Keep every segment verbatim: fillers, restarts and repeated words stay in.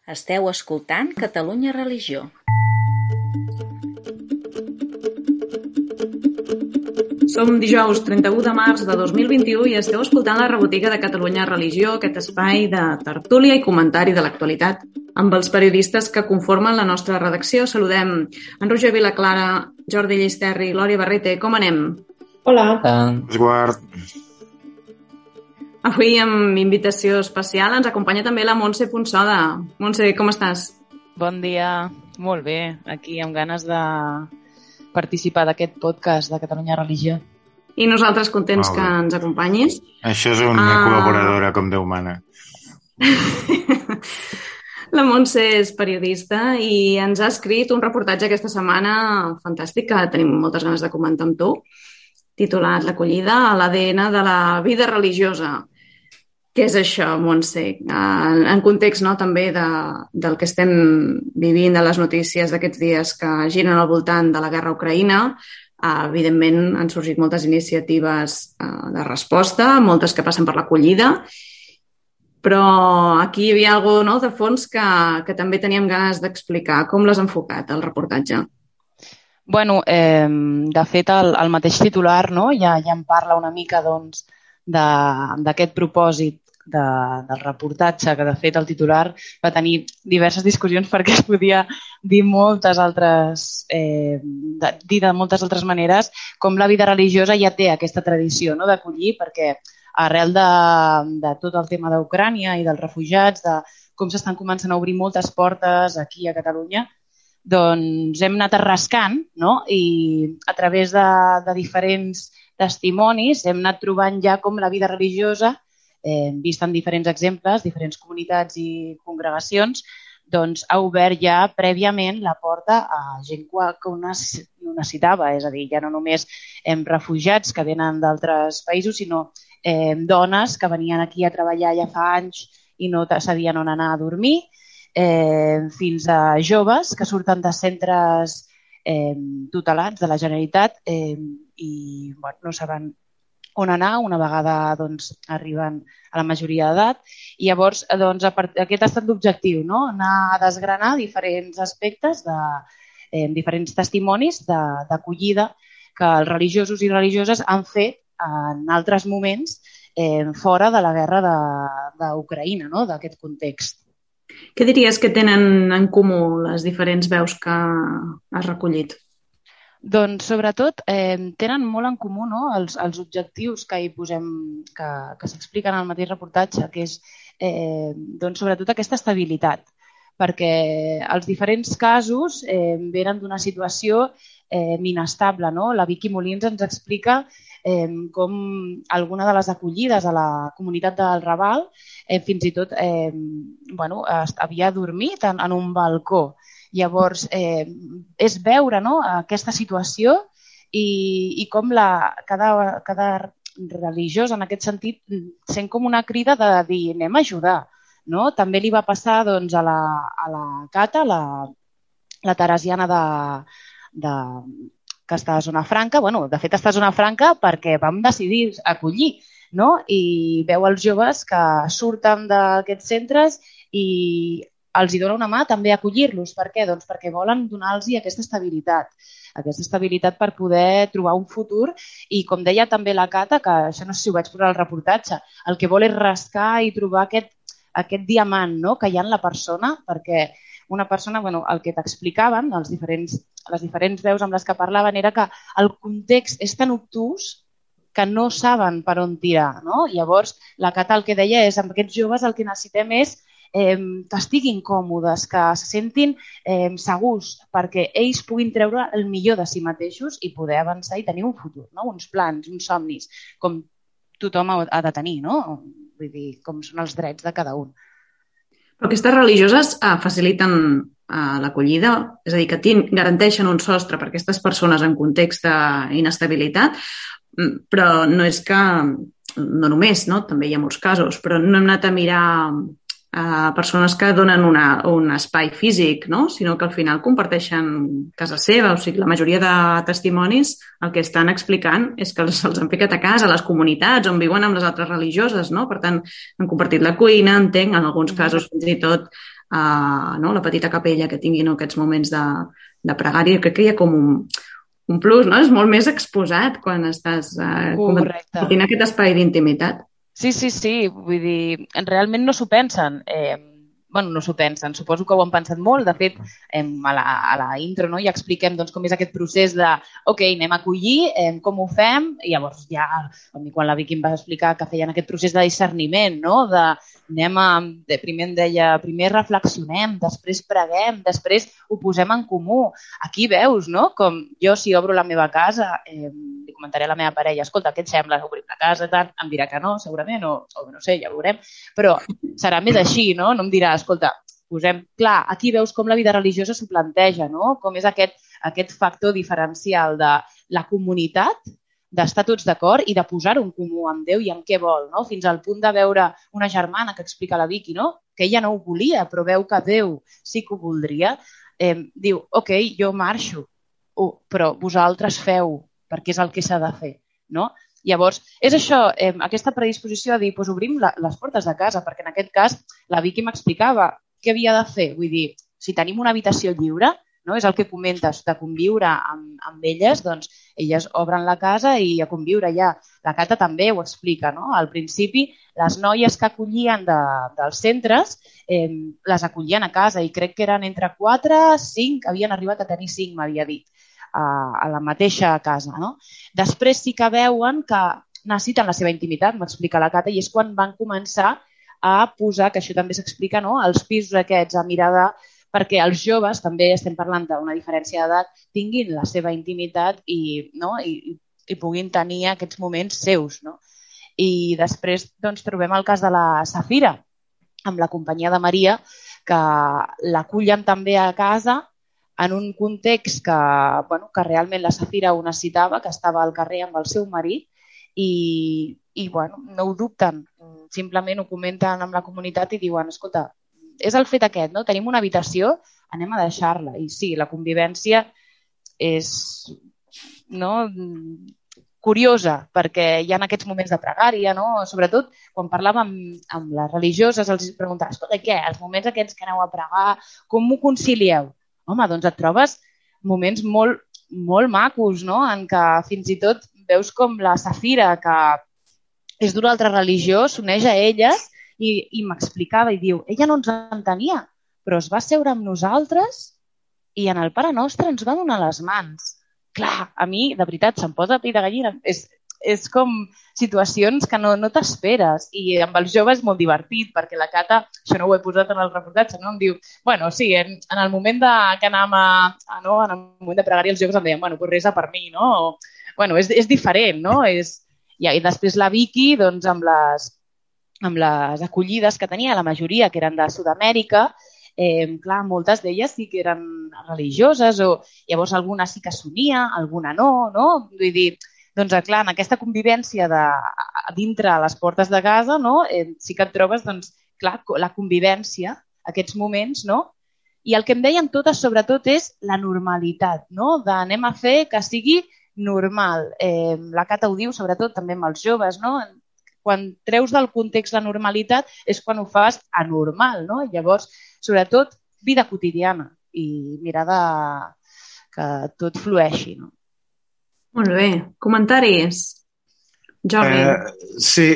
Esteu escoltant Catalunya Religió. Som dijous trenta-u de març de dos mil vint-i-u i esteu escoltant la rebotiga de Catalunya Religió, aquest espai de tertúlia i comentari de l'actualitat amb els periodistes que conformen la nostra redacció. Saludem en Roger Vilaclara, Jordi Llisterri i Glòria Barrete. Com anem? Hola. Esguard. Avui amb invitació especial ens acompanya també la Montse Punsoda. Montse, com estàs? Bon dia. Molt bé. Aquí amb ganes de participar d'aquest podcast de Catalunya Religió. I nosaltres contents que ens acompanyis. Això és una uh... col·laboradora com Déu mana. La Montse és periodista i ens ha escrit un reportatge aquesta setmana fantàstic que tenim moltes ganes de comentar amb tu, titulat L'acollida a l'A D N de la vida religiosa. Què és això, Montse? En, en context, no, també de, del que estem vivint, de les notícies d'aquests dies que giren al voltant de la guerra a Ucraïna, eh, evidentment han sorgit moltes iniciatives eh, de resposta, moltes que passen per l'acollida, però aquí hi havia alguna cosa, no, de fons que, que també teníem ganes d'explicar. Com l'has enfocat, el reportatge? Bueno, eh, de fet, el, el mateix titular, no, ja, ja en parla una mica doncs, d'aquest propòsit de, del reportatge, que de fet el titular va tenir diverses discussions perquè es podia dir moltes altres, eh, de, dir de moltes altres maneres, com la vida religiosa ja té aquesta tradició, no, d'acollir, perquè arrel de, de tot el tema d'Ucrània i dels refugiats, de com s'estan començant a obrir moltes portes aquí a Catalunya, doncs hem anat arrascant, no? I a través de, de diferents testimonis hem anat trobant ja com la vida religiosa, eh, vist en diferents exemples, diferents comunitats i congregacions, doncs ha obert ja prèviament la porta a gent que ho necessitava, és a dir, ja no només hem refugiats que venen d'altres països, sinó eh, dones que venien aquí a treballar ja fa anys i no sabien on anar a dormir, eh, fins a joves que surten de centres eh, tutelats de la Generalitat eh, i bueno, no saben on anar una vegada doncs, arriben a la majoria d'edat. I llavors doncs, aquest ha estat l'objectiu, no? Anar a desgranar diferents aspectes, de, eh, diferents testimonis d'acollida que els religiosos i religioses han fet en altres moments eh, fora de la guerra d'Ucraïna, no? D'aquest context. Què diries que tenen en comú les diferents veus que has recollit? Doncs, sobretot, eh, tenen molt en comú, no? els, els objectius que hi posem, que, que s'expliquen al mateix reportatge, que és, eh, doncs, sobretot, aquesta estabilitat, perquè els diferents casos eh, venen d'una situació eh, inestable, no? La Vicky Molins ens explica eh, com alguna de les acollides a la comunitat del Raval eh, fins i tot eh, bueno, havia dormit en, en un balcó. Llavors, eh, és veure, no, aquesta situació i, i com la, cada, cada religiós, en aquest sentit, sent com una crida de dir anem a ajudar. No? També li va passar doncs, a, la, a la Cata, la, la teresiana de, de, que està a Zona Franca. Bueno, de fet, està a Zona Franca perquè vam decidir acollir, no? I veu els joves que surten d'aquests centres i els hi dona una mà també acollir-los. Per què? Doncs perquè volen donar-los aquesta estabilitat, aquesta estabilitat per poder trobar un futur i, com deia també la Cata, que això no sé si ho vaig posar al reportatge, el que vol és rascar i trobar aquest, aquest diamant, no?, que hi ha en la persona, perquè una persona, bueno, el que t'explicaven, els diferents, les diferents veus amb les que parlaven, era que el context és tan obtús que no saben per on tirar, no? Llavors, la Cata el que deia és amb aquests joves el que necessitem és Eh, que estiguin còmodes, que se sentin eh, segurs, perquè ells puguin treure el millor de si mateixos i poder avançar i tenir un futur, no? Uns plans, uns somnis, com tothom ha de tenir, no? Vull dir, com són els drets de cada un. Però aquestes religioses eh, faciliten eh, l'acollida, és a dir, que garanteixen un sostre per a aquestes persones en context d'inestabilitat, però no és que, no només, no? També hi ha molts casos, però no hem anat a mirar a persones que donen una, un espai físic, no? Sinó que al final comparteixen casa seva. O sigui, la majoria de testimonis el que estan explicant és que se'ls han ficat a casa, a les comunitats on viuen amb les altres religioses, no? Per tant, han compartit la cuina, entenc, en alguns casos fins i tot a no, la petita capella que tinguin aquests moments de, de pregària. Crec que hi ha com un, un plus, no? És molt més exposat quan estàs eh, compartint aquest espai d'intimitat. Sí, sí, sí. Vull dir, realment no s'ho pensen. Eh, bueno, no s'ho pensen. Suposo que ho han pensat molt. De fet, eh, a, la, a la intro no, ja expliquem doncs, com és aquest procés de ok, anem a acollir, eh, com ho fem? I llavors ja, quan la Vicky em va explicar que feien aquest procés de discerniment, no? De anem a, de, primer em deia, primer reflexionem, després preguem, després ho posem en comú. Aquí veus, no? Com jo, si obro la meva casa, eh, li comentaré a la meva parella, escolta, què et sembla? Obrir la casa, tant? Em dirà que no, segurament, o, o no sé, ja ho veurem, però serà més així, no? No em dirà, escolta, posem... Clar, aquí veus com la vida religiosa s'ho planteja, no? Com és aquest, aquest factor diferencial de la comunitat, d'estar tots d'acord i de posar-ho en comú amb Déu i en què vol, no? Fins al punt de veure una germana que explica a la Vicky, no? Que ella no ho volia, però veu que Déu sí que ho voldria. Eh, diu, ok, jo marxo, oh, però vosaltres feu, perquè és el que s'ha de fer, no? Llavors, és això, eh, aquesta predisposició a dir, doncs obrim la, les portes de casa, perquè en aquest cas la Vicky m'explicava què havia de fer. Vull dir, si tenim una habitació lliure, no? És el que comentes, de conviure amb, amb elles, doncs elles obren la casa i a conviure ja. La Cata també ho explica, no? Al principi, les noies que acollien de, dels centres eh, les acollien a casa i crec que eren entre quatre, cinc, havien arribat a tenir cinc, m'havia dit, a, a la mateixa casa, no? Després sí que veuen que necessiten la seva intimitat, m'explica la Cata, i és quan van començar a posar, que això també s'explica, no? Els pisos aquests a mirada, perquè els joves, també estem parlant d'una diferència d'edat, tinguin la seva intimitat i, no? I, i puguin tenir aquests moments seus, no? I després doncs, trobem el cas de la Safira, amb la companyia de Maria, que l'acullen també a casa en un context que, bueno, que realment la Safira ho necessitava, que estava al carrer amb el seu marit i, i bueno, no ho dubten, simplement ho comenten amb la comunitat i diuen, escolta, és el fet aquest, no? Tenim una habitació, anem a deixar-la. I sí, la convivència és, no, curiosa, perquè hi ha aquests moments de pregària, no? Sobretot quan parlàvem amb, amb les religioses, els preguntava, escolta, què? Els moments aquests que aneu a pregar, com m'ho concilieu? Home, doncs et trobes moments molt, molt macos, no? En què fins i tot veus com la Safira, que és d'una altra religió, s'uneix a elles i, i m'explicava i diu, ella no ens entenia, però es va seure amb nosaltres i en el Pare Nostre ens va donar les mans. Clar, a mi, de veritat, se'm posa pell de gallina. És, és com situacions que no, no t'esperes. I amb els joves és molt divertit, perquè la Cata, això no ho he posat en el reportatge, no? Em diu, bueno, sí, en, en el moment de, que anàvem a, a, no? en el moment de pregària, els joves em deien, bueno, pues resa per mi, no? O, bueno, és, és diferent, no? És, ja, i després la Vicky, doncs, amb les amb les acollides que tenia, la majoria que eren de Sud-amèrica, eh, clar, moltes d'elles sí que eren religioses, o llavors alguna sí que s'unia, alguna no, no? Vull dir, doncs clar, en aquesta convivència de, dintre les portes de casa, no? Eh, sí que et trobes, doncs, clar, la convivència, aquests moments, no? I el que em deien totes, sobretot, és la normalitat, no? D'anem a fer que sigui normal. Eh, la Cata ho diu, sobretot, també amb els joves, no? Quan treus del context la normalitat és quan ho fas anormal, no? Llavors, sobretot, vida quotidiana i mirar de que tot flueixi, no? Molt bé. Comentaris? Jordi. Eh, sí,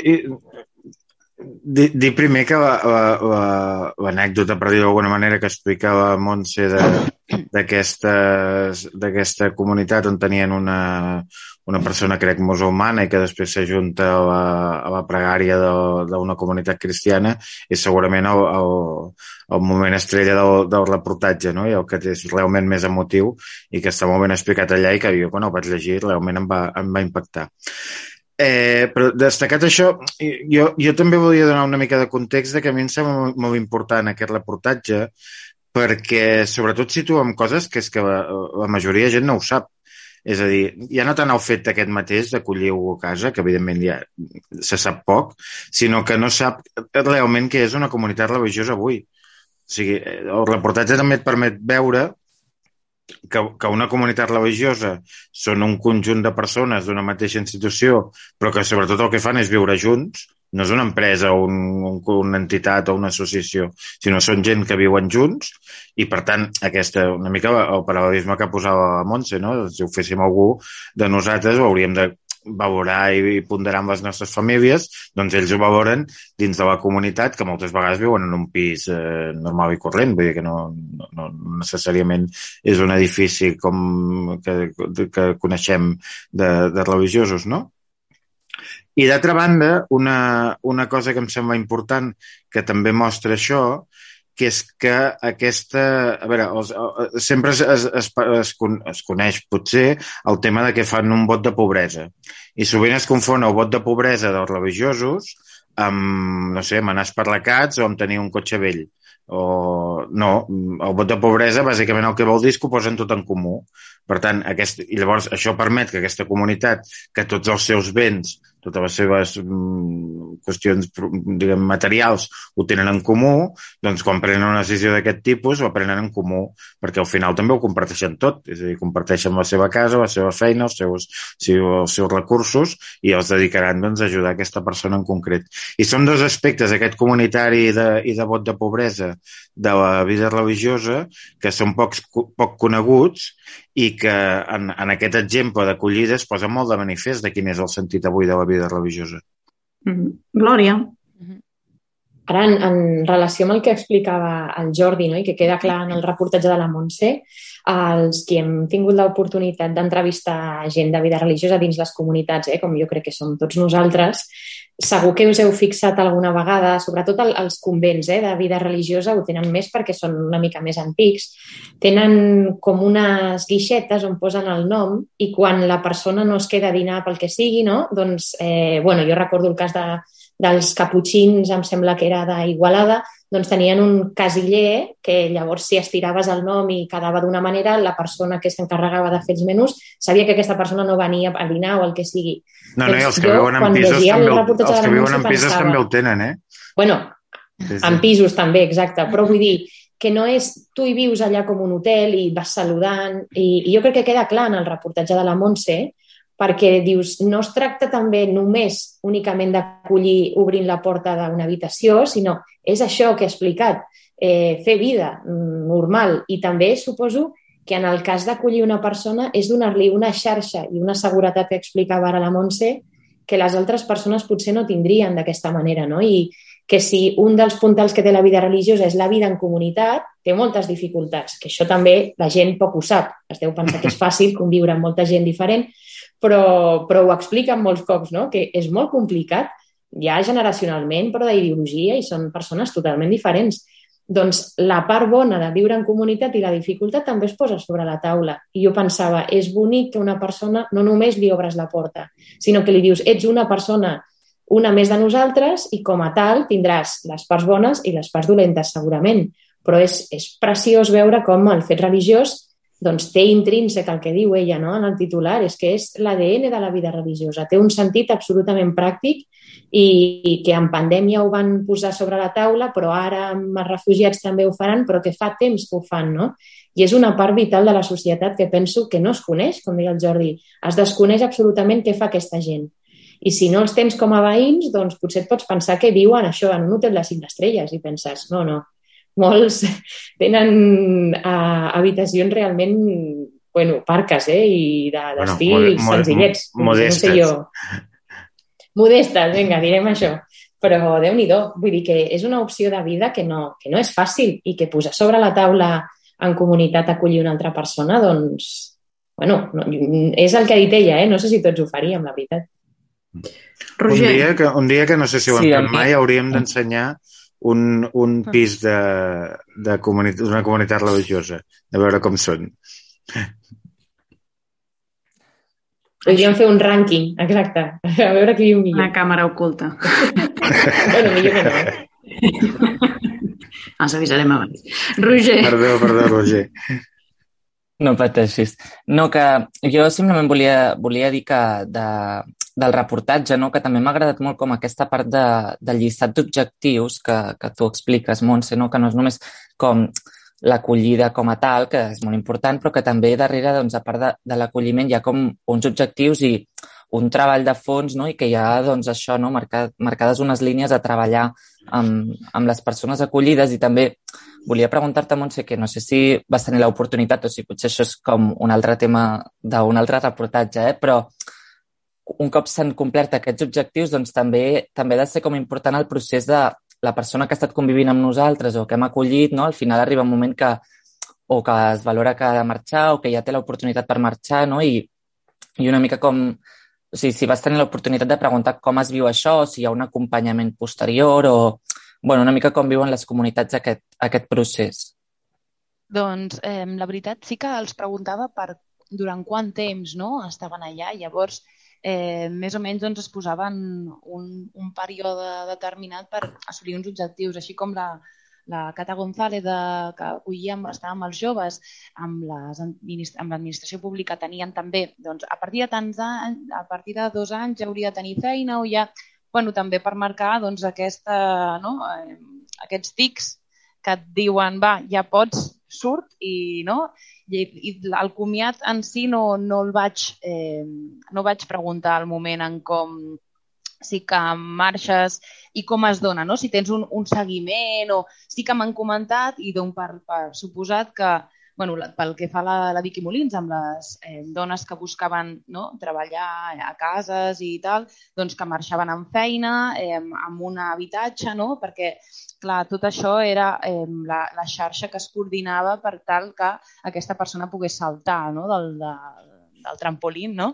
dir, dir primer que l'anècdota, per dir-ho d'alguna manera, que explicava Montse d'aquesta comunitat on tenien una, una persona, crec, musulmana i que després s'ajunta a, la, a la pregària d'una comunitat cristiana és segurament el, el, el moment estrella del, del reportatge, no? I el que és realment més emotiu i que està molt ben explicat allà i que jo, quan el vaig llegir, realment em va, em va impactar. Eh, però destacat això, jo, jo també volia donar una mica de context de que a mi em sembla molt, molt important aquest reportatge perquè sobretot situem coses que és que la, la majoria de gent no ho sap. És a dir, ja no tant el fet aquest mateix d'acollir-ho a casa, que evidentment ja se sap poc, sinó que no sap realment què és una comunitat religiosa avui. O sigui, el reportatge també et permet veure que, que una comunitat religiosa són un conjunt de persones d'una mateixa institució, però que sobretot el que fan és viure junts, no és una empresa o un, una entitat o una associació, sinó són gent que viuen junts i, per tant, aquesta, una mica el paral·lelisme que posava la Montse, no? Si ho féssim algú de nosaltres ho hauríem de valorar i ponderar amb les nostres famílies, doncs ells ho valoren dins de la comunitat, que moltes vegades viuen en un pis eh, normal i corrent, vull dir que no, no, no necessàriament és un edifici com que, que coneixem de, de religiosos, no? I d'altra banda, una, una cosa que em sembla important que també mostra això, que és que aquesta... A veure, els, sempre es, es, es, es, es coneix potser el tema de que fan un vot de pobresa. I sovint es confon el vot de pobresa dels religiosos amb, no sé, amb anar esparlacats o amb tenir un cotxe vell. O no, el vot de pobresa bàsicament el que vol dir és que ho posen tot en comú. Per tant, aquest, i llavors això permet que aquesta comunitat, que tots els seus béns, totes les seves mm, qüestions, diguem, materials ho tenen en comú, doncs quan prenen una decisió d'aquest tipus ho prenen en comú, perquè al final també ho comparteixen tot, és a dir, comparteixen la seva casa, la seva feina, els seus, els seus recursos i els dedicaran doncs, a ajudar aquesta persona en concret. I són dos aspectes, aquest comunitari de, i de vot de pobresa de la vida religiosa, que són poc, poc coneguts i que en, en aquest exemple d'acollida es posa molt de manifest de quin és el sentit avui de la vida religiosa. Mm-hmm. Glòria. Ara, en, en relació amb el que explicava el Jordi, no? I que queda clar en el reportatge de la Montse, els que hem tingut l'oportunitat d'entrevistar gent de vida religiosa dins les comunitats, eh? Com jo crec que som tots nosaltres, segur que us heu fixat alguna vegada, sobretot el, els convents eh, de vida religiosa ho tenen més perquè són una mica més antics, tenen com unes guixetes on posen el nom i quan la persona no es queda a dinar pel que sigui, no? Doncs, eh, bueno, jo recordo el cas de, dels caputxins, em sembla que era d'Igualada, doncs tenien un casiller que llavors si estiraves el nom i quedava d'una manera, la persona que s'encarregava de fer els menús sabia que aquesta persona no venia a dinar o el que sigui. No, no, i els que viuen en pisos, també, els que viuen en pisos pensava, també ho tenen, eh? Bueno, sí, sí. En pisos també, exacte, però vull dir que no és, tu hi vius allà com un hotel i vas saludant, i, i jo crec que queda clar en el reportatge de la Montse, perquè dius, no es tracta també només únicament d'acollir obrint la porta d'una habitació, sinó és això que he explicat, eh, fer vida normal. I també suposo que en el cas d'acollir una persona és donar-li una xarxa i una seguretat que explicava ara la Montse que les altres persones potser no tindrien d'aquesta manera, no? I que si un dels puntals que té la vida religiosa és la vida en comunitat, té moltes dificultats, que això també la gent poc ho sap. Es deu pensar que és fàcil conviure amb molta gent diferent, però, però ho expliquen molts cops, no? Que és molt complicat, ja generacionalment, però d'ideologia, i són persones totalment diferents. Doncs la part bona de viure en comunitat i la dificultat també es posa sobre la taula. I jo pensava, és bonic que una persona no només li obres la porta, sinó que li dius, ets una persona, una més de nosaltres, i com a tal tindràs les parts bones i les parts dolentes, segurament. Però és, és preciós veure com el fet religiós doncs té intrínsec el que diu ella, no? En el titular, és que és l'A D N de la vida religiosa, té un sentit absolutament pràctic i, i que en pandèmia ho van posar sobre la taula, però ara amb els refugiats també ho faran, però que fa temps que ho fan, no? I és una part vital de la societat que penso que no es coneix, com deia el Jordi, es desconeix absolutament què fa aquesta gent. I si no els tens com a veïns, doncs potser et pots pensar que viuen això en un hotel de cinc estrelles i penses, no, no, molts tenen uh, habitacions realment, bueno, parques, eh? I d'estil de, bueno, senzillets. Modestes. No sé jo. Modestes, vinga, direm això. Però Déu-n'hi-do, vull dir que és una opció de vida que no, que no és fàcil i que posar sobre la taula en comunitat acollir una altra persona, doncs, bueno, no, és el que ha dit ella, eh? No sé si tots ho faríem, la veritat. Roger. Un dia que, un dia que no sé si ho hem sí, fet mai, hauríem d'ensenyar un, un pis de, de comunitat, una comunitat religiosa, de veure com són. Podríem fer un rànquing, exacte, a veure qui viu millor. Una càmera oculta. Bueno, millor que no. Els avisarem abans. Roger. Perdó, perdó, Roger. No pateixis. No, que jo simplement volia, volia dir que de, del reportatge, no, que també m'ha agradat molt com aquesta part de, del llistat d'objectius que, que tu expliques, Montse, no? Que no és només com l'acollida com a tal, que és molt important, però que també darrere, doncs, a part de, de l'acolliment, hi ha com uns objectius i un treball de fons, no? I que hi ha doncs, això, no? Marcat, marcades unes línies a treballar amb, amb les persones acollides. I també volia preguntar-te, Montse, que no sé si vas tenir l'oportunitat o si potser això és com un altre tema d'un altre reportatge, eh? Però un cop s'han complert aquests objectius, doncs també també ha de ser com important el procés de la persona que ha estat convivint amb nosaltres o que hem acollit, no? Al final arriba un moment que o que es valora que ha de marxar o que ja té l'oportunitat per marxar, no? I, i una mica com... O sigui, si vas tenir l'oportunitat de preguntar com es viu això, si hi ha un acompanyament posterior o... Bueno, una mica com viuen les comunitats aquest, aquest procés. Doncs eh, la veritat sí que els preguntava per durant quant temps, no?, estaven allà. Llavors, eh, més o menys doncs, es posaven un, un període determinat per assolir uns objectius, així com la, la Cata González, de, que acollia, estava amb els joves, amb l'administració pública tenien també, doncs, a partir de tants anys, a partir de dos anys ja hauria de tenir feina o ja, bueno, també per marcar doncs, aquesta, no, eh, aquests tics que et diuen, va, ja pots, surt, i, no? I, i el comiat en si no, no el vaig, eh, no vaig preguntar al moment en com sí que marxes i com es dona, no? Si tens un, un seguiment o sí que m'han comentat i dono per, per suposat que, bueno, pel que fa a la, la Vicky Molins, amb les eh, dones que buscaven, no, treballar a cases i tal, doncs que marxaven amb feina, eh, amb un habitatge, no? Perquè, clar, tot això era eh, la, la xarxa que es coordinava per tal que aquesta persona pogués saltar, no? del, de, del trampolín, no?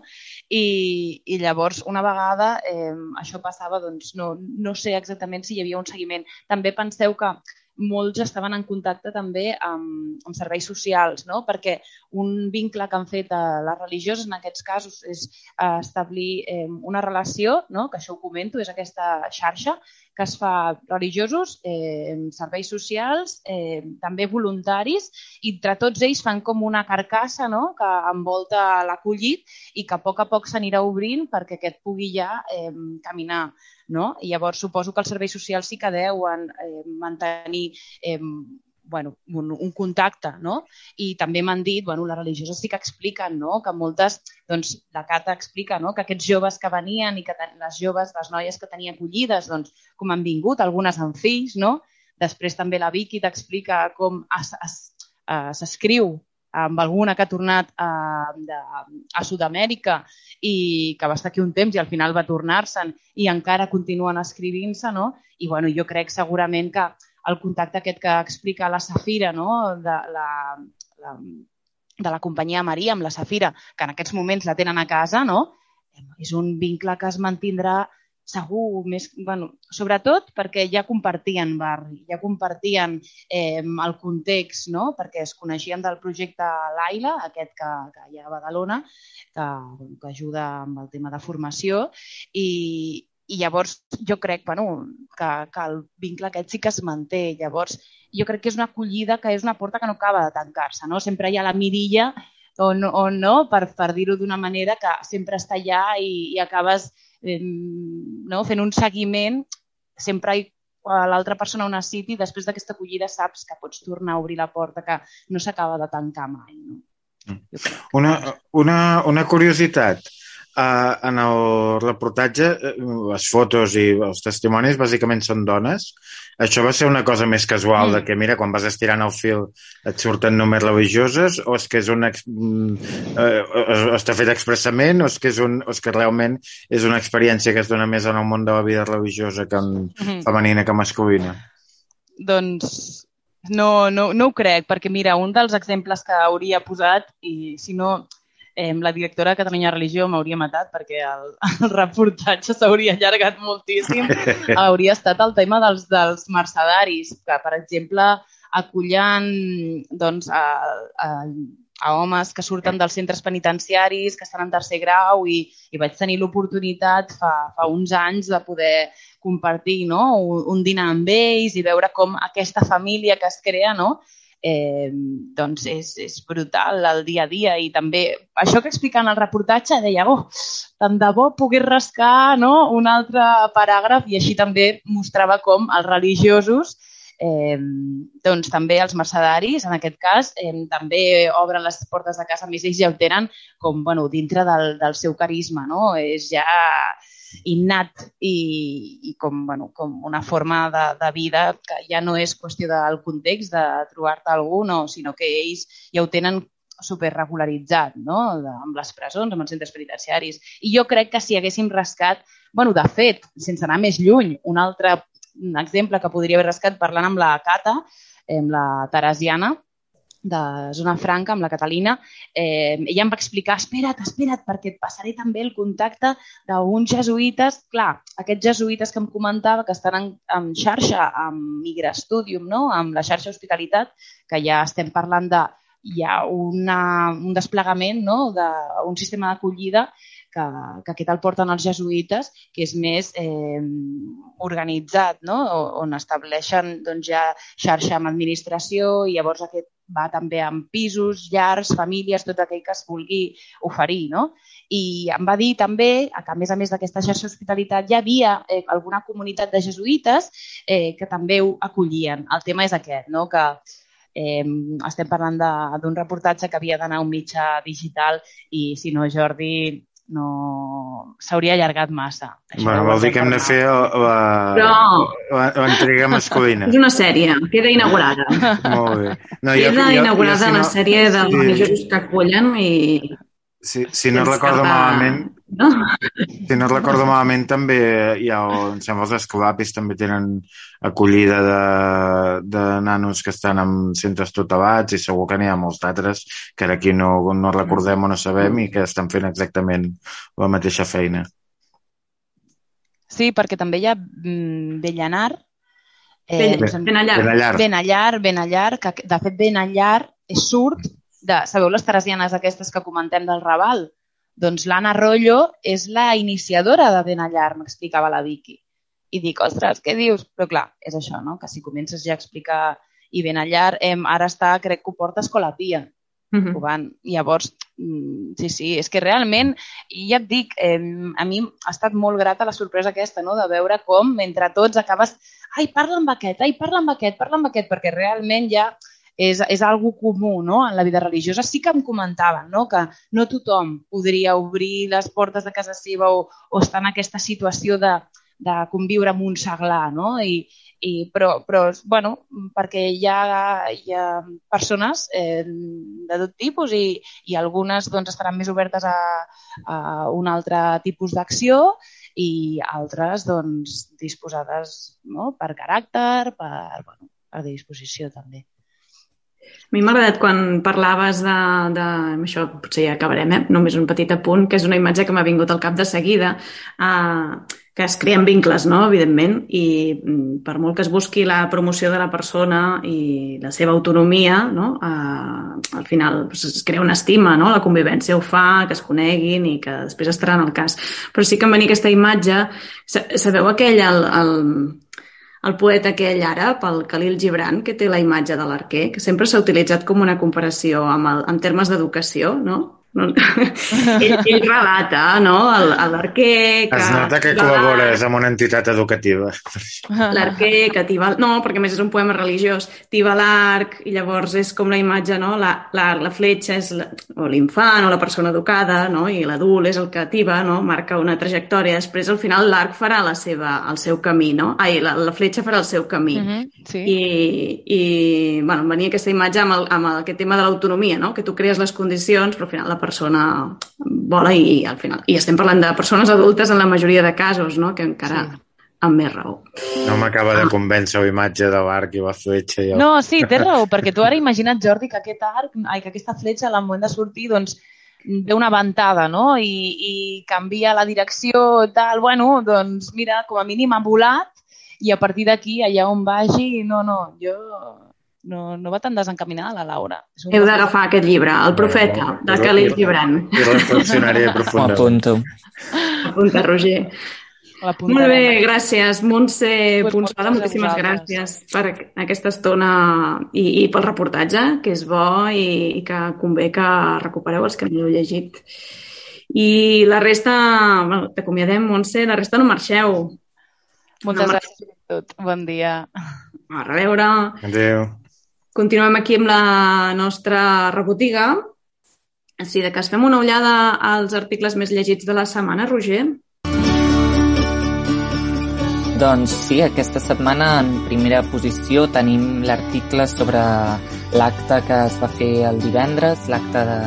I, i llavors, una vegada eh, això passava, doncs no, no sé exactament si hi havia un seguiment. També penseu que molts estaven en contacte també amb, amb serveis socials, no? Perquè un vincle que han fet a les religioses en aquests casos és establir eh, una relació, no? Que això ho comento, és aquesta xarxa que es fa religiosos, eh, serveis socials, eh, també voluntaris, i entre tots ells fan com una carcassa, no? Que envolta l'acollit i que a poc a poc s'anirà obrint perquè aquest pugui ja eh, caminar. No? I llavors suposo que els serveis socials sí que deuen eh, mantenir eh, bueno, un, un contacte, no? I també m'han dit, bueno, les religioses sí que expliquen, no? Que moltes, doncs la Cata explica, no? Que aquests joves que venien i que ten, les joves, les noies que tenia acollides, doncs com han vingut, algunes amb fills, no? Després també la Vicky t'explica com s'escriu amb alguna que ha tornat a, de, a Sud-amèrica i que va estar aquí un temps i al final va tornar-se'n i encara continuen escrivint-se, no? I bueno, jo crec segurament que el contacte aquest que explica la Safira, no? de, la, la, de la companyia Maria amb la Safira, que en aquests moments la tenen a casa, no? És un vincle que es mantindrà segur, més, bueno, sobretot perquè ja compartien barri, ja compartien eh, el context, no? Perquè es coneixien del projecte Laila, aquest que, que hi ha a Badalona, que, que ajuda amb el tema de formació, i, i llavors jo crec bueno, que, que el vincle aquest sí que es manté. Llavors jo crec que és una acollida que és una porta que no acaba de tancar-se, no? Sempre hi ha la mirilla o no, o no per, per dir-ho d'una manera que sempre està allà i, i acabes no? Fent un seguiment sempre l'altra persona ho necessiti i després d'aquesta acollida saps que pots tornar a obrir la porta, que no s'acaba de tancar mai. No? Una, una, una curiositat. Uh, en el reportatge, les fotos i els testimonis bàsicament són dones. Això va ser una cosa més casual mm. de que, mira, quan vas estirant el fil et surten només religioses, o és que és una, uh, està fet expressament, o és que, és un, o és que realment és una experiència que es dona més en el món de la vida religiosa que en mm. femenina que masculina? Doncs no, no, no ho crec, perquè mira, un dels exemples que hauria posat, i si no... Eh, la directora de Catalunya Religió m'hauria matat perquè el, el reportatge s'hauria allargat moltíssim. Hauria estat el tema dels, dels mercedaris, que, per exemple, acollant doncs, a, a, a homes que surten dels centres penitenciaris, que estan en tercer grau, i, i vaig tenir l'oportunitat fa, fa uns anys de poder compartir, no? un, un dinar amb ells i veure com aquesta família que es crea, no? Eh, doncs és, és brutal el dia a dia, i també això que explica en el reportatge deia, oh, tant de bo pogués rascar, no? Un altre paràgraf, i així també mostrava com els religiosos Eh, doncs també els mercedaris, en aquest cas, eh, també obren les portes de casa, més ells ja ho tenen com, bueno, dintre del, del seu carisma, no? És ja innat i, i com, bueno, com una forma de, de vida que ja no és qüestió del context de trobar-te algú, no, sinó que ells ja ho tenen superregularitzat, no? De, amb les presons, amb els centres penitenciaris. I jo crec que si haguéssim rascat, bueno, de fet, sense anar més lluny, un altre exemple que podria haver rascat parlant amb la Cata, amb la Teresiana, de Zona Franca, amb la Catalina, eh, ella em va explicar, espera't, espera't, perquè et passaré també el contacte d'uns jesuïtes, clar, aquests jesuïtes que em comentava que estan en, en xarxa amb Migrastudium, no? Amb la xarxa Hospitalitat, que ja estem parlant de hi ha una, un desplegament, no? d'un sistema d'acollida que, que aquest el porten els jesuïtes, que és més eh, organitzat, no? On estableixen doncs, ja xarxa amb administració i llavors aquest va també amb pisos, llars, famílies, tot aquell que es vulgui oferir. No? I em va dir també que, a més a més d'aquesta xarxa Hospitalitat, hi havia eh, alguna comunitat de jesuïtes eh, que també ho acollien. El tema és aquest, no? Que Eh, estem parlant d'un reportatge que havia d'anar a un mitjà digital i, si no, Jordi, no s'hauria allargat massa. Això bueno, vol dir que hem de fer l'entrega masculina. És una sèrie, queda inaugurada. Molt bé. No, queda jo, jo, inaugurada jo, si no, la sèrie de sí. religiosos que acollen i... Si, si no recordo cap... malament, no? si no recordo malament, també hi ha, em sembla, els escolapis també tenen acollida de, de nanos que estan en centres tutelats i segur que n'hi ha molts d'altres que ara aquí no, no recordem o no sabem i que estan fent exactament la mateixa feina. Sí, perquè també hi ha Bellanar, eh, Benallar. Benallar, Benallar, Benallar, que de fet Benallar surt de, sabeu les teresianes aquestes que comentem del Raval? Doncs l'Anna Rollo és la iniciadora de Benallar, m'explicava la Vicky. I dic, ostres, què dius? Però clar, és això, no? Que si comences ja a explicar i Benallar, eh, ara està, crec que ho porta Escola Pia. Uh-huh. Van. Llavors, sí, sí, és que realment, ja et dic, eh, a mi ha estat molt grata la sorpresa aquesta, no? De veure com entre tots acabes, ai, parla amb aquest, ai, parla amb aquest, parla amb aquest, perquè realment ja és, és algo comú, no? En la vida religiosa. Sí que em comentaven, no? Que no tothom podria obrir les portes de casa seva o, o estar en aquesta situació de, de conviure amb un seglar, no? I, i, però, però, bueno, perquè hi ha, hi ha persones eh, de tot tipus i, i algunes doncs, estaran més obertes a, a un altre tipus d'acció i altres doncs, disposades, no? Per caràcter, per, bueno, per disposició també. A mi m'ha agradat quan parlaves de, de... Això potser ja acabarem, eh? Només un petit apunt, que és una imatge que m'ha vingut al cap de seguida, eh, que es creen vincles, no?, evidentment, i per molt que es busqui la promoció de la persona i la seva autonomia, no?, eh, al final es crea una estima, no?, la convivència ho fa, que es coneguin i que després estaran al cas. Però sí que em venia aquesta imatge, sabeu aquell... El, el, el poeta aquell àrab, el Khalil Gibran, que té la imatge de l'arquer, que sempre s'ha utilitzat com una comparació amb el, en termes d'educació, no? No. ell, ell relata, no?, l'arquer... Que... Es nota que col·labores amb una entitat educativa. L'arquer que t'hi va... No, perquè a més és un poema religiós. T'hi va l'arc i llavors és com la imatge, no? La, la, la fletxa és la, o l'infant o la persona educada, no? I l'adult és el que t'hi va, no? Marca una trajectòria. Després, al final, l'arc farà la seva, el seu camí, no? Ai, la, la fletxa farà el seu camí. Mm-hmm, sí. I, i bueno, venia aquesta imatge amb, el, amb aquest tema de l'autonomia, no? Que tu crees les condicions, però al final la persona vola i al final... I estem parlant de persones adultes en la majoria de casos, no? Que encara sí. Amb més raó. No m'acaba de convèncer la imatge de l'arc i la fletxa. I el... No, sí, té raó, perquè tu ara imagina't, Jordi, que aquest arc, ai, que aquesta fletxa al moment de sortir, doncs, ve una ventada, no? I, i canvia la direcció, tal, bueno, doncs, mira, com a mínim ha volat i a partir d'aquí, allà on vagi, no, no, jo... No, no va tan desencaminada la Laura. Heu d'agafar aquest llibre, El profeta, no, no, de Khalil Gibran. I reflexionaré profundament. Apunto. Apunta, Roger. Molt bé, gràcies. Montse pues Punçada, moltíssimes gràcies per aquesta estona i, i pel reportatge, que és bo i, i que convé que recupereu els que no l'heu llegit. I la resta, bueno, t'acomiadem, Montse, la resta no marxeu. Moltes no gràcies a tot. Bon dia. A reveure. Adéu. Continuem aquí amb la nostra rebotiga. Si de cas fem una ullada als articles més llegits de la setmana, Roger. Doncs sí, aquesta setmana en primera posició tenim l'article sobre l'acte que es va fer el divendres, l'acte de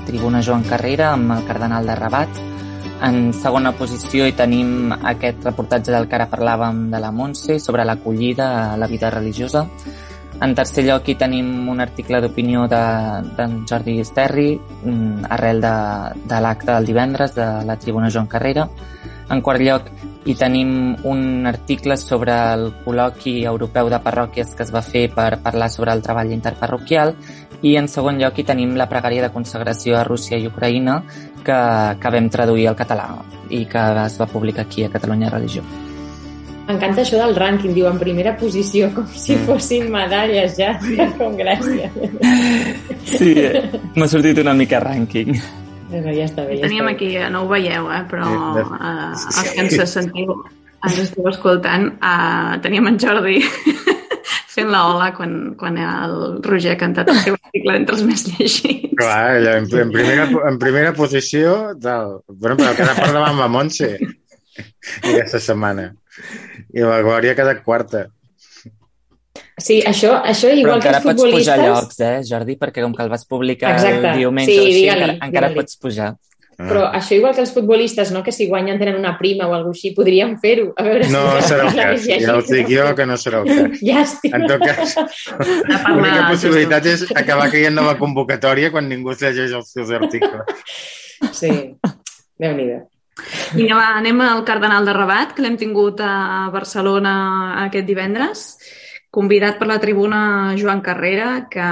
Tribuna Joan Carrera amb el cardenal de Rabat. En segona posició hi tenim aquest reportatge del que ara parlàvem de la Montse sobre l'acollida a la vida religiosa. En tercer lloc hi tenim un article d'opinió d'en de, Jordi Esterri arrel de, de l'acte del divendres de la Tribuna Joan Carrera. En quart lloc hi tenim un article sobre el col·loqui europeu de parròquies que es va fer per parlar sobre el treball interparroquial i en segon lloc hi tenim la pregària de consagració a Rússia i Ucraïna que, que vam traduir al català i que es va publicar aquí a Catalunya Religió. M'encanta això del rànquing, diu en primera posició, com si fossin medalles ja, com gràcia. Sí, m'ha sortit una mica rànquing. Bueno, ja està bé. Ja Teníem està aquí, no ho veieu, eh? Però uh, els que ens sentiu, ens esteu escoltant, uh, teníem en Jordi fent la ola quan, quan el Roger ha cantat el seu article entre els més llegits. Clar, en, en, primera, en primera posició, tal. Bueno, però cada part davant la Montse aquesta setmana. I la Glòria ha quedat quarta. Sí, això, això igual que els futbolistes... Però encara pots pujar llocs, eh, Jordi? Perquè com que el vas publicar Exacte. El diumenge Sí, o així, digue-li, encara, encara digue-li. pots pujar. Però això igual que els futbolistes, no? Que si guanyen tenen una prima o alguna cosa així, podríem fer-ho. A veure No si serà el cas. Ja us dic jo que no serà el cas. Llàstima. En tot cas, l'única possibilitat és acabar caient de la convocatòria quan ningú es llegeix els seus articles. Sí, Déu-n'hi-do. Vinga, va, anem al Cardenal de Rabat, que l'hem tingut a Barcelona aquest divendres, convidat per la tribuna Joan Carrera, que,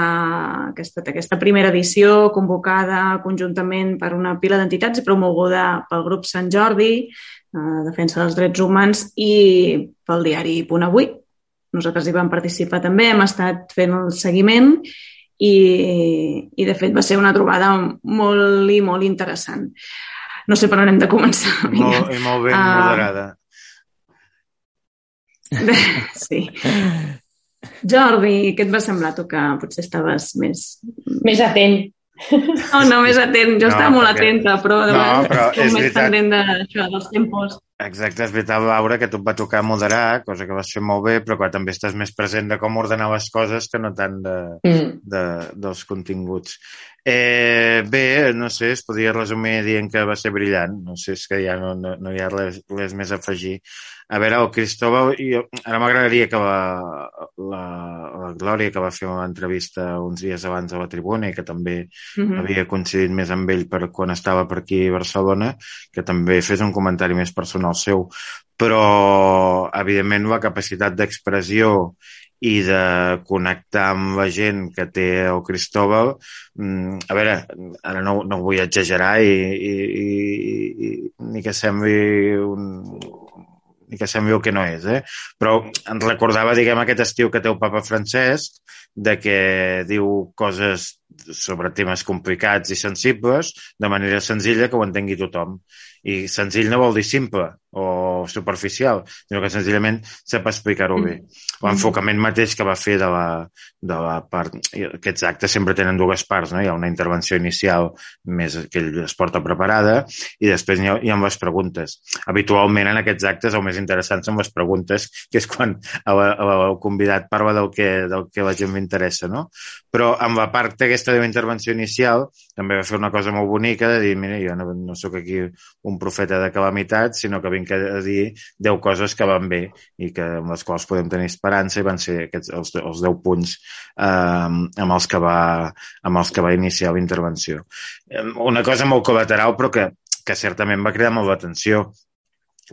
que ha estat aquesta primera edició convocada conjuntament per una pila d'entitats i promoguda pel grup Sant Jordi, eh, Defensa dels Drets Humans, i pel diari Punt Avui. Nosaltres hi vam participar també, hem estat fent el seguiment i, i de fet va ser una trobada molt i molt interessant. No sé per on hem de començar. Molt, I molt ben uh, moderada. Sí. Jordi, què et va semblar tu que potser estaves més... Més atent. No, no, més atent. Jo no, estava molt perquè... atenta, però, de no, però és més veritat... pendent d'això, dels tempos. Exacte, és veritat, Laura, que tu et va tocar moderar, cosa que vas fer molt bé, però que també estàs més present de com ordenar les coses que no tant de, mm. de, dels continguts. Eh, bé, no sé, es podria resumir dient que va ser brillant. No sé, és que ja no, no, no hi ha res, res més a afegir. A veure, el Cristóbal, jo, ara m'agradaria que la, la, la Glòria, que va fer una entrevista uns dies abans a la tribuna i que també mm-hmm. havia coincidit més amb ell per quan estava per aquí a Barcelona, que també fes un comentari més personal seu. Però, evidentment, la capacitat d'expressió i de connectar amb la gent que té el Cristóbal, a veure, ara no, no vull exagerar i, i, i, i ni que sembli un... ni que sembli el que no és, eh? Però ens recordava, diguem, aquest estiu que té el papa Francesc, de que diu coses sobre temes complicats i sensibles de manera senzilla que ho entengui tothom. I senzill no vol dir simple o superficial, sinó que senzillament sap explicar-ho bé. L'enfocament mateix que va fer de la, de la part... Aquests actes sempre tenen dues parts, no? Hi ha una intervenció inicial més que ell es porta preparada i després hi ha, hi ha les preguntes. Habitualment en aquests actes el més interessant són les preguntes, que és quan el, el convidat parla del que, del que la gent m'interessa, no? Però amb la part aquesta de la intervenció inicial també va fer una cosa molt bonica de dir, mira, jo no, no sóc aquí un profeta de calamitat, sinó que vinc a dir deu coses que van bé i que, amb les quals podem tenir esperança, i van ser aquests, els, els deu punts eh, amb, els que va, amb els que va iniciar la intervenció. Una cosa molt col·lateral, però que, que certament va cridar molt l'atenció.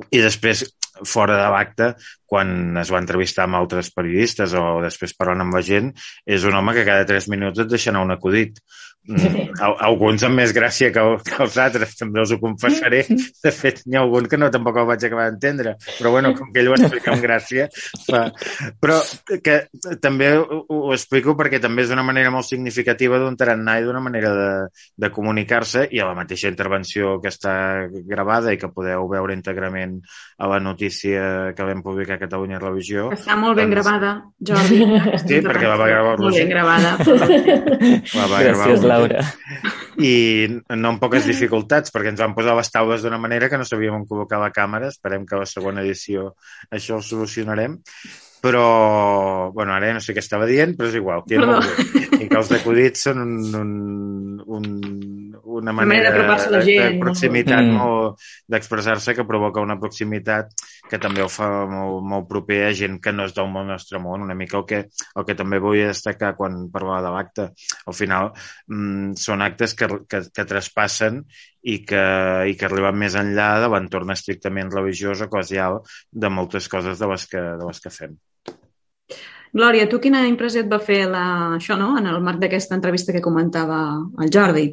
I després, fora de l'acte, quan es va entrevistar amb altres periodistes o després parlant amb la gent, és un home que cada tres minuts et deixa anar un acudit. Mm, alguns amb més gràcia que, que els altres, també us ho confessaré. De fet, n'hi ha algun que no tampoc el vaig acabar d'entendre, però bueno, com que ell ho explica amb gràcia fa... però que també ho, ho explico perquè també és una manera molt significativa d'un tarannà i d'una manera de, de comunicar-se, i a la mateixa intervenció que està gravada i que podeu veure íntegrament a la notícia que vam publicar a Catalunya Religió. Està molt ben doncs... gravada, Jordi. Sí, perquè la va gravar el Roger. Molt ben gravada. La va gravar Gràcies, Laura. I no amb poques dificultats, perquè ens van posar les taules d'una manera que no sabíem on col·locar la càmera. Esperem que a la segona edició això ho solucionarem. Però, bueno, ara ja no sé què estava dient, però és igual. Que I que els acudits són un, un, un, una manera de, de, gent, de proximitat, no? Molt, d'expressar-se, que provoca una proximitat que també ho fa molt, molt proper a gent que no és del nostre món. Una mica el que, el que també vull destacar quan parlava de l'acte. Al final, mmm, són actes que, que, que traspassen i que, i que arriben més enllà de l'entorn estrictament religiós o eclesial de moltes coses de les que, de les que fem. Glòria, tu quina impressió et va fer la, això, no?, en el marc d'aquesta entrevista que comentava el Jordi?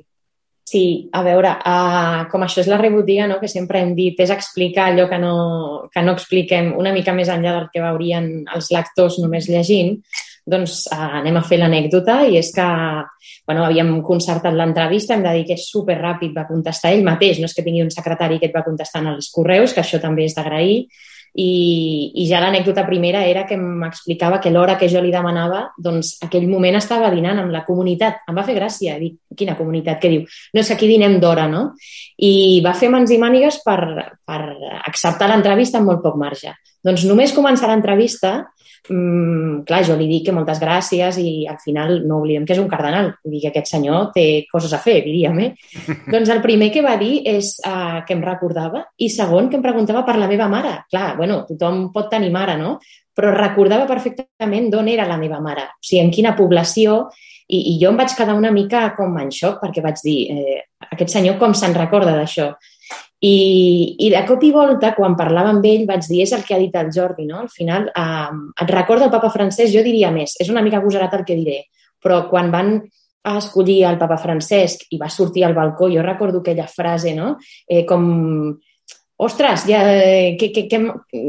Sí, a veure, uh, com això és la rebotiga, no?, que sempre hem dit, és explicar allò que no, que no expliquem una mica més enllà del que veurien els lectors només llegint, doncs uh, anem a fer l'anècdota, i és que bueno, havíem concertat l'entrevista, hem de dir que és superràpid, va contestar ell mateix, no és que tingui un secretari que et va contestant als correus, que això també és d'agrair. I, i ja l'anècdota primera era que m'explicava que l'hora que jo li demanava, doncs aquell moment estava dinant amb la comunitat. Em va fer gràcia, dic, quina comunitat? Què diu? No, és que aquí dinem d'hora, no? I va fer mans i mànigues per, per acceptar l'entrevista amb molt poc marge. Doncs només començar l'entrevista, mmm, clar, jo li dic que moltes gràcies i al final no oblidem que és un cardenal. Vull dir que aquest senyor té coses a fer, diríem, eh? Doncs el primer que va dir és uh, que em recordava, i segon, que em preguntava per la meva mare. Clar, bueno, tothom pot tenir mare, no? Però recordava perfectament d'on era la meva mare, o sigui, en quina població, i, i jo em vaig quedar una mica com en xoc, perquè vaig dir, eh, aquest senyor com se'n recorda d'això? I, i de cop i volta, quan parlava amb ell, vaig dir, és el que ha dit el Jordi, no? Al final, eh, et recorda el papa Francesc, jo diria més, és una mica agosarat el que diré, però quan van escollir el papa Francesc i va sortir al balcó, jo recordo aquella frase, no? Eh, com, ostres, ja, què, què, què,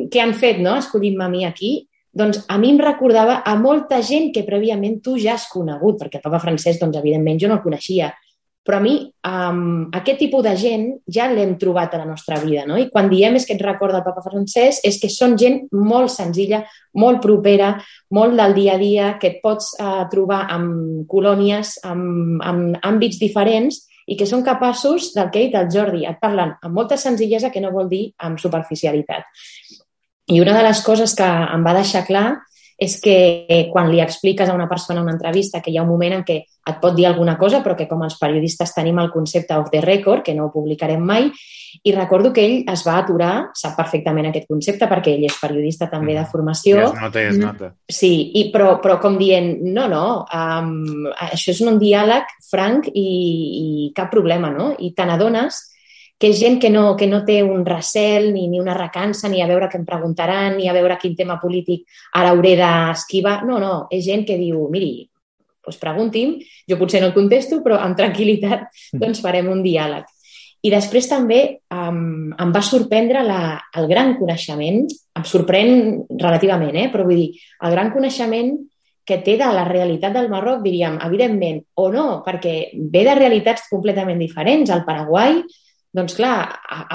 què han fet, no?, escollint-me a mi aquí? Doncs a mi em recordava a molta gent que prèviament tu ja has conegut, perquè el papa Francesc, doncs, evidentment, jo no el coneixia. Però a mi, um, aquest tipus de gent ja l'hem trobat a la nostra vida, no? I quan diem és que et recorda el papa Francesc és que són gent molt senzilla, molt propera, molt del dia a dia, que et pots uh, trobar en colònies, en, en àmbits diferents i que són capaços del que ha dit el Jordi. Et parlen amb molta senzillesa, que no vol dir amb superficialitat. I una de les coses que em va deixar clar és que quan li expliques a una persona en una entrevista que hi ha un moment en què et pot dir alguna cosa, però que com els periodistes tenim el concepte off the record, que no ho publicarem mai, i recordo que ell es va aturar, sap perfectament aquest concepte, perquè ell és periodista també de formació. I es nota, i es nota. Sí, i, però, però com dient, no, no, um, això és un diàleg franc i, i cap problema, no? I te n'adones que és gent que no, que no té un recel ni, ni una recança, ni a veure què em preguntaran, ni a veure quin tema polític ara hauré d'esquivar. No, no, és gent que diu, miri, doncs pregunti'm, jo potser no el contesto, però amb tranquil·litat doncs farem un diàleg. I després també um, em va sorprendre la, el gran coneixement, em sorprèn relativament, eh? Però vull dir, el gran coneixement que té de la realitat del Marroc, diríem, evidentment, o no, perquè ve de realitats completament diferents. Al Paraguai, doncs clar,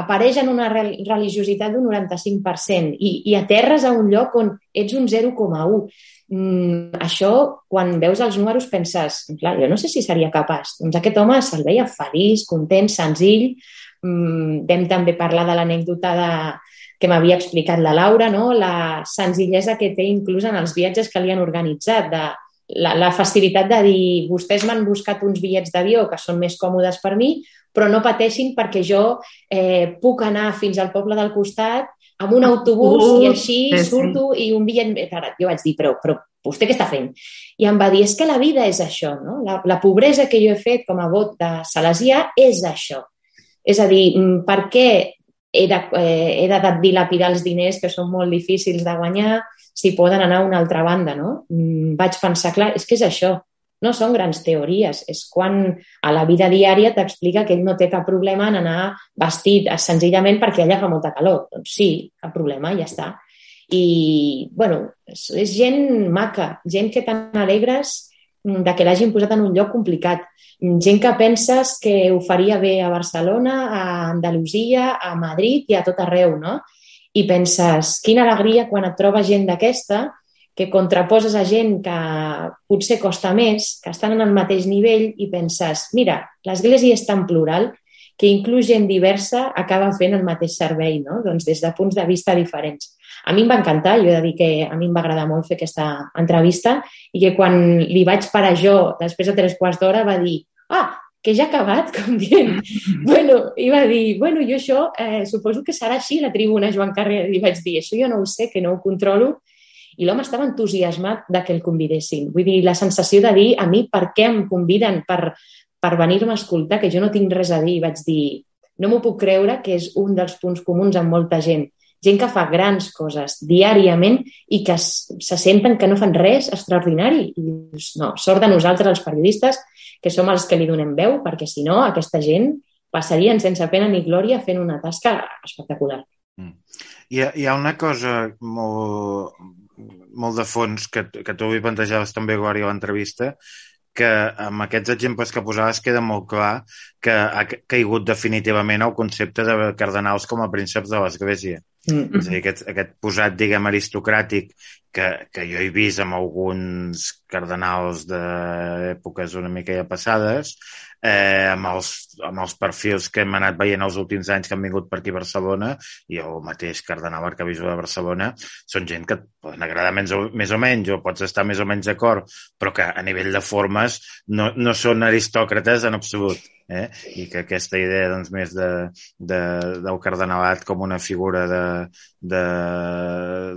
apareix en una religiositat d'un noranta-cinc per cent i, i aterres a un lloc on ets un zero coma u. Mm, això, quan veus els números, penses, clar, jo no sé si seria capaç. Doncs aquest home se'l veia feliç, content, senzill. Mm, vam també parlar de l'anècdota de, que m'havia explicat la Laura, no? La senzillesa que té inclús en els viatges que li han organitzat, de la, la facilitat de dir, vostès m'han buscat uns bitllets d'avió que són més còmodes per mi, però no pateixin perquè jo eh, puc anar fins al poble del costat amb un autobús uh, i així sí, surto sí. I un bitllet... Jo vaig dir, però, però vostè què està fent? I em va dir, és que la vida és això, no? La, la pobresa que jo he fet com a vot de salesià és això. És a dir, per què he de, eh, he de dilapidar els diners que són molt difícils de guanyar si poden anar a una altra banda, no? Vaig pensar, clar, és que és això. no són grans teories, és quan a la vida diària t'explica que ell no té cap problema en anar vestit senzillament perquè allà fa molta calor. Doncs sí, cap problema, ja està. I, bueno, és, és gent maca, gent que tan alegres de que l'hagin posat en un lloc complicat, gent que penses que ho faria bé a Barcelona, a Andalusia, a Madrid i a tot arreu, no? I penses, quina alegria quan et trobes gent d'aquesta que contraposes a gent que potser costa més, que estan en el mateix nivell i penses, mira, l'Església és tan plural que inclús gent diversa acaba fent el mateix servei, no? Doncs des de punts de vista diferents. A mi em va encantar, jo he de dir que a mi em va agradar molt fer aquesta entrevista i que quan li vaig parar jo, després de tres quarts d'hora, va dir, ah, que ja ha acabat, com dient. Bueno, i va dir, bueno, jo això eh, suposo que serà així la tribuna Joan Carrer. I vaig dir, això jo no ho sé, que no ho controlo. I l'home estava entusiasmat de que el convidessin. Vull dir, la sensació de dir, a mi, per què em conviden per, per venir-me a escoltar, que jo no tinc res a dir. I vaig dir, no m'ho puc creure, que és un dels punts comuns amb molta gent. Gent que fa grans coses diàriament i que se senten que no fan res extraordinari. I dius, no, sort de nosaltres, els periodistes, que som els que li donem veu, perquè si no, aquesta gent passarien sense pena ni glòria fent una tasca espectacular. Mm. Hi ha, hi ha una cosa molt, molt de fons que, que tu hi plantejaves també, Glòria, a l'entrevista, que amb aquests exemples que posaves queda molt clar que ha caigut definitivament el concepte de cardenals com a prínceps de l'Església. Mm-hmm. És a dir, aquest, aquest posat, diguem, aristocràtic que, que jo he vist amb alguns cardenals d'èpoques una mica ja passades, eh, amb, els, amb els perfils que hem anat veient els últims anys que han vingut per aquí a Barcelona, i el mateix cardenal arquebisbe de Barcelona, són gent que et poden agradar més o, més o menys, o pots estar més o menys d'acord, però que a nivell de formes no, no són aristòcrates en absolut. Eh? I que aquesta idea doncs, més de, de, del cardenalat com una figura de, de,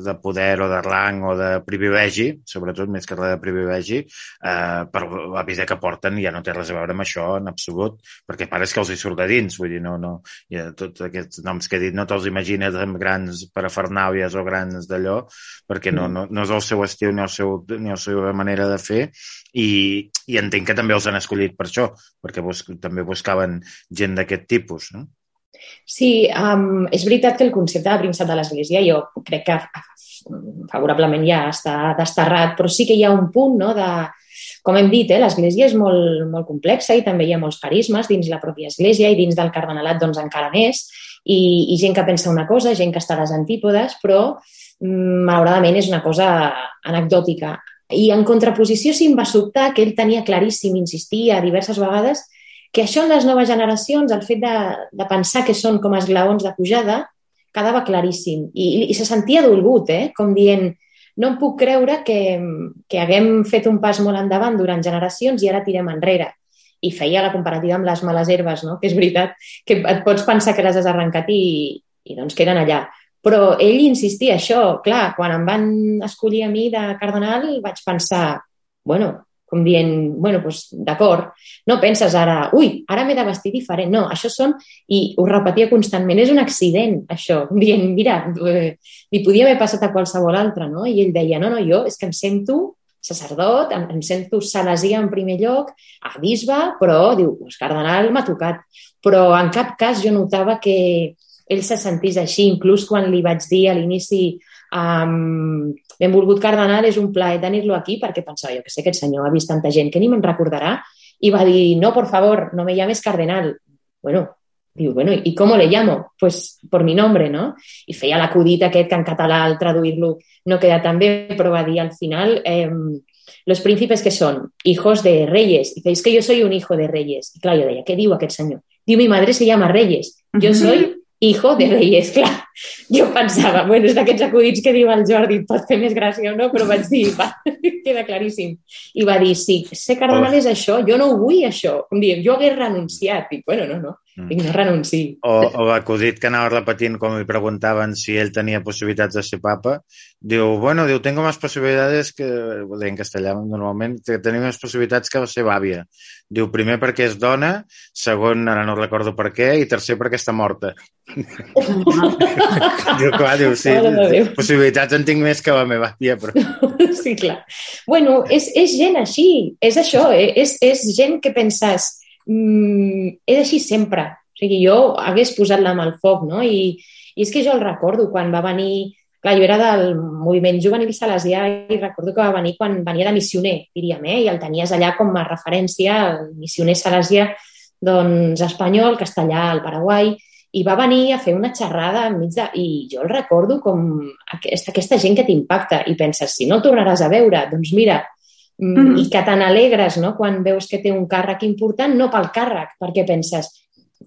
de poder o de rang o de privilegi, sobretot més que res de privilegi, eh, per la vida que porten ja no té res a veure amb això en absolut, perquè pare és que els hi surt de dins, vull dir, no, no, ja, tots aquests noms que he dit no te'ls imagines amb grans parafernàlies o grans d'allò, perquè no, no, no és el seu estil ni, el seu, ni la seva manera de fer, i, i entenc que també els han escollit per això, perquè bus, també buscaven gent d'aquest tipus, no? Sí, um, és veritat que el concepte de príncep de l'Església jo crec que favorablement ja està desterrat, però sí que hi ha un punt, no, de, com hem dit, eh, l'Església és molt, molt complexa i també hi ha molts carismes dins la pròpia Església i dins del cardenalat doncs encara més, i, i gent que pensa una cosa, gent que està a les antípodes, però malauradament és una cosa anecdòtica. I en contraposició sí em va sobtar que ell tenia claríssim, insistia diverses vegades, que això en les noves generacions, el fet de, de pensar que són com esglaons de pujada, quedava claríssim. I, i se sentia dolgut, eh? Com dient, no em puc creure que, que haguem fet un pas molt endavant durant generacions i ara tirem enrere. I feia la comparativa amb les males herbes, no? Que és veritat que et pots pensar que les has arrencat i, i doncs queden allà. Però ell insistia això, clar, quan em van escollir a mi de cardenal vaig pensar, bueno, com dient, bueno, doncs d'acord, no penses ara, ui, ara m'he de vestir diferent, no, això són, i ho repetia constantment, és un accident, això, dient, mira, eh, li podia haver passat a qualsevol altre, no? I ell deia, no, no, jo és que em sento sacerdot, em, em sento salesià en primer lloc, a bisbe, però, diu, pues, cardenal m'ha tocat, però en cap cas jo notava que ell se sentís així, inclús quan li vaig dir a l'inici um, benvolgut cardenal, és un plaer tenir-lo aquí, perquè pensava, jo que sé, aquest senyor ha vist tanta gent que ni me'n recordarà, i va dir, no, por favor, no me llames cardenal. Bueno, diu, bueno, ¿y cómo le llamo? Pues por mi nombre, ¿no? I feia l'acudit aquest que en català al traduir-lo no queda tan bé, però va dir al final, eh, los príncipes que son hijos de reyes. Y dice, es que yo soy un hijo de reyes. I clar, jo deia, què diu aquest senyor? Diu, mi madre se llama Reyes. Yo soy hijo de reyes, clar. Jo pensava, bueno, és d'aquests acudits que diu el Jordi, pot fer més gràcia o no, però vaig dir, va, queda claríssim. I va dir, sí, ser cardenal és això, jo no ho vull això. Com dir, jo hagués renunciat. I bueno, no, no, Dic, no renunci. O, o l'acudit que anava repetint quan li preguntaven si ell tenia possibilitats de ser papa, diu, bueno, diu, tengo más posibilidades que, en castellà normalment, que tenim més possibilitats que la seva àvia. Diu, primer perquè és dona, segon, ara no recordo per què, i tercer perquè està morta. Diu, clar, diu, sí, possibilitats en tinc més que la meva àvia, però... Sí, clar. Bueno, és, és gent així, és això, eh? és, és gent que penses... Mm, és així sempre. O sigui, jo hagués posat la mà al foc, no? I, i és que jo el recordo quan va venir... Clar, jo era del moviment juvenil salesià i recordo que va venir quan venia de missioner, diríem, eh? I el tenies allà com a referència, el missioner salesià, doncs, espanyol, castellà, al Paraguai, i va venir a fer una xerrada enmig de... I jo el recordo com aquesta, aquesta gent que t'impacta i penses, si no el tornaràs a veure, doncs mira... Mm. I que te n'alegres, no?, quan veus que té un càrrec important, no pel càrrec, perquè penses,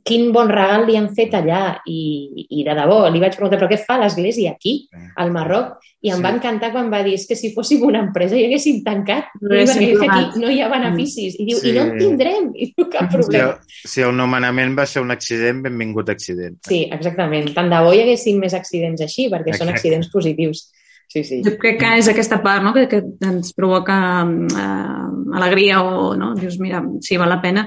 quin bon regal li han fet allà, i, i de debò, li vaig preguntar, però què fa l'Església aquí, al Marroc? I em sí. va encantar quan va dir, és que si fóssim una empresa i haguéssim tancat, no, i perquè és que aquí no hi ha beneficis, i diu, sí. i no en tindrem, i diu, cap problema. Si el, si el nomenament va ser un accident, benvingut accident. Sí, exactament, tant de bo hi haguessin més accidents així, perquè Exacte. Són accidents positius. Sí, sí. Jo crec que és aquesta part, no?, que, que ens provoca eh, alegria o, no?, dius, mira, sí, val la pena,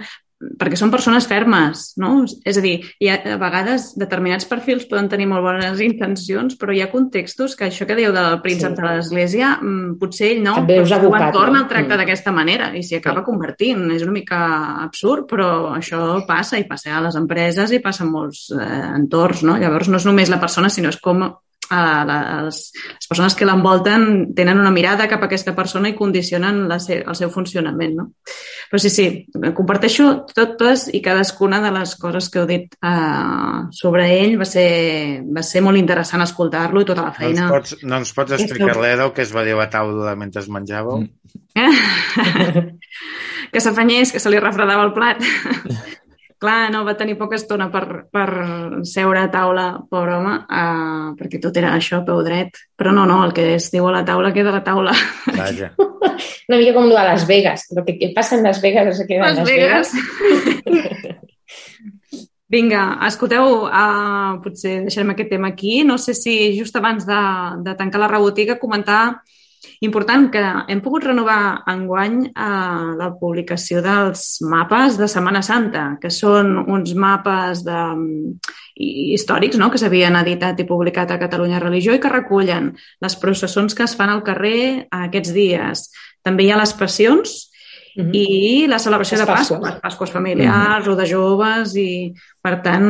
perquè són persones fermes, no? És a dir, hi ha, a vegades determinats perfils poden tenir molt bones intencions, però hi ha contextos que això que dieu del príncep sí. de l'Església, potser ell no, però el seu entorn el tracta mm. d'aquesta manera i s'hi acaba convertint. És una mica absurd, però això passa i passa a les empreses i passa en molts eh, entorns, no? Llavors no és només la persona, sinó és com Uh, les, les persones que l'envolten tenen una mirada cap a aquesta persona i condicionen la se, el seu funcionament, no? Però sí, sí, comparteixo totes i cadascuna de les coses que heu dit uh, sobre ell. Va ser, va ser molt interessant escoltar-lo i tota la feina. No ens pots, no ens pots explicar res del que es va dir a la taula mentre es menjàveu? Que s'afanyés, que se li refredava el plat. Clar, no, va tenir poca estona per, per seure a taula, pobre home, uh, perquè tot era això, peu dret. Però no, no, el que es diu a la taula queda a la taula. Vaja. Una mica com a Las Vegas. El que passa en Las Vegas no se queda en Las Vegas. Vegas. Vinga, escolteu, uh, potser deixarem aquest tema aquí. No sé si just abans de, de tancar la rebotiga comentar... Important que hem pogut renovar enguany eh, la publicació dels mapes de Setmana Santa, que són uns mapes de, històrics, no?, que s'havien editat i publicat a Catalunya Religió i que recullen les processons que es fan al carrer aquests dies. També hi ha les passions uh-huh. i la celebració les de Pasqua, les Pasques familiars uh-huh. o de joves i, per tant,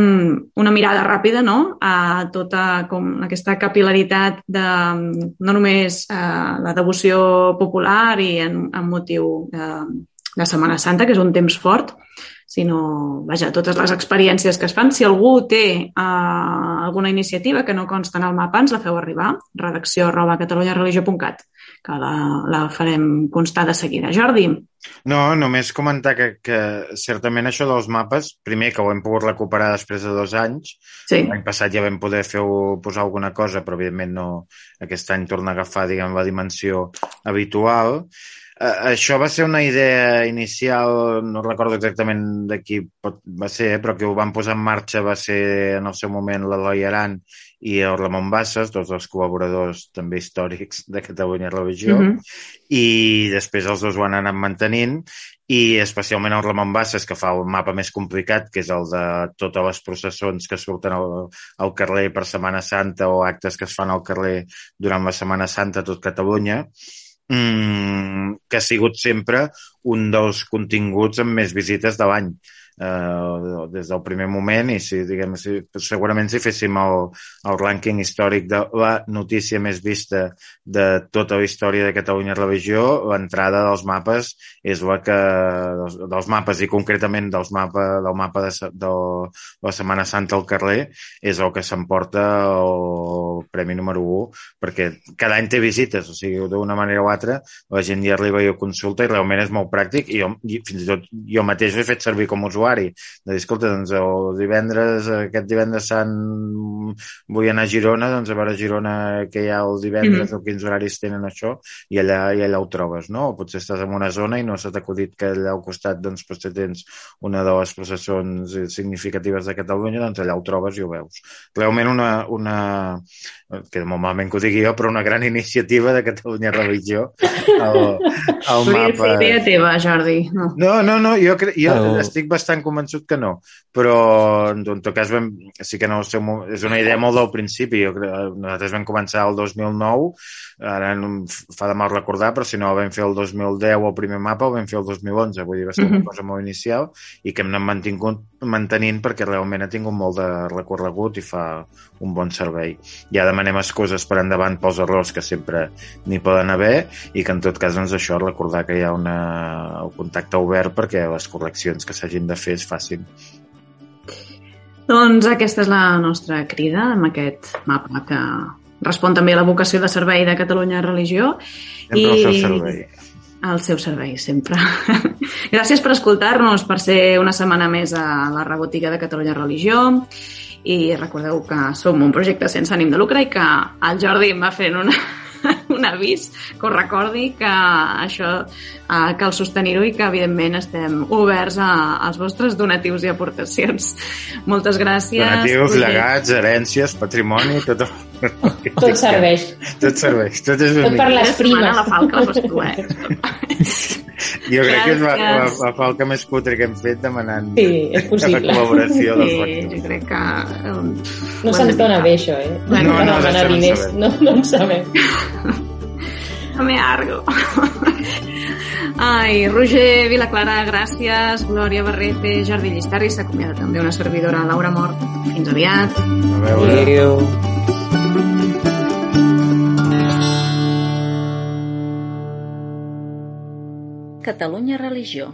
una mirada ràpida, no?, a tota com aquesta capil·laritat de no només eh, la devoció popular i en, en motiu de, de Setmana Santa, que és un temps fort, sinó, vaja, totes les experiències que es fan. Si algú té eh, alguna iniciativa que no consta en el mapa, ens la feu arribar, redacció arroba catalunyareligió punt cat, que la, la farem constar de seguida. Jordi? No, només comentar que, que certament això dels mapes, primer que ho hem pogut recuperar després de dos anys, sí. L'any passat ja vam poder fer posar alguna cosa, però evidentment no, aquest any torna a agafar, diguem, la dimensió habitual. Uh, això va ser una idea inicial, no recordo exactament de qui pot, va ser, però que ho van posar en marxa va ser en el seu moment l'Eloi Aran i el Ramon Bassas, dos dels col·laboradors també històrics de Catalunya Religió, uh-huh. i després els dos ho han anat mantenint, i especialment el Ramon Bassas, que fa el mapa més complicat, que és el de totes les processons que surten al, al carrer per Setmana Santa o actes que es fan al carrer durant la Setmana Santa a tot Catalunya, Mm, que ha sigut sempre un dels continguts amb més visites de l'any uh, des del primer moment i si, diguem, si, segurament si féssim el, el rànquing històric de la notícia més vista de tota la història de Catalunya Religió, l'entrada dels mapes és la que dels, dels mapes i concretament dels mapa, del mapa de, de la Setmana Santa al carrer és el que s'emporta el premi número u, perquè cada any té visites, o sigui, d'una manera o altra la gent hi arriba i ho consulta i realment és molt pràctic i, jo, i fins i tot jo mateix ho he fet servir com a usuari de dir, escolta, doncs el divendres aquest divendres sant vull anar a Girona, doncs a veure a Girona que hi ha el divendres mm-hmm. o quins horaris tenen això i allà, i allà ho trobes, no? O potser estàs en una zona i no s'ha acudit que allà al costat doncs potser tens una de les processons significatives de Catalunya, doncs allà ho trobes i ho veus. Realment una, una que molt malament que ho digui jo, però una gran iniciativa de Catalunya Religió al, al mapa. Podria ser idea teva, Jordi. No, no, no, no jo, cre... jo oh. estic bastant convençut que no, però en tot cas vam... sí que no sé, és una idea molt del principi. Jo cre... Nosaltres vam començar el dos mil nou, ara fa de mal recordar, però si no vam fer el dos mil deu el primer mapa, el vam fer el dos mil onze, vull dir, va ser una cosa molt inicial i que hem anat mantingut, mantenint perquè realment ha tingut molt de recorregut i fa un bon servei. Ja demanem excuses per endavant pels errors que sempre n'hi poden haver i que en tot cas doncs això, recordar que hi ha una, el contacte obert perquè les correccions que s'hagin de fer es facin. Doncs aquesta és la nostra crida amb aquest mapa que respon també a la vocació de servei de Catalunya Religió. Sempre I... el seu servei. Al seu servei, sempre. Gràcies per escoltar-nos, per ser una setmana més a la Rebotiga de Catalunya Religió. I recordeu que som un projecte sense ànim de lucre i que el Jordi em va fent una, un avís que us recordi que això eh, cal sostenir-ho i que evidentment estem oberts a, als vostres donatius i aportacions. Moltes gràcies. Donatius, llegats, herències, patrimoni, tot, tot serveix. Tot serveix. Tot, és tot per les primes. La falca la fas tu, eh? Jo crec que és la, la, la falca més cutre que hem fet demanant sí, és possible. la col·laboració dels sí, factors. Jo crec que... Um, no se'ns dona bé, això, eh? No, no, no, no, diners. no, no en sabem. No me argo. Ai, Roger Vilaclara, gràcies. Glòria Barrete, Jordi Llistarri, s'acomiada també una servidora, Laura Mort. Fins aviat. A veure. Adéu. Catalunya Religió.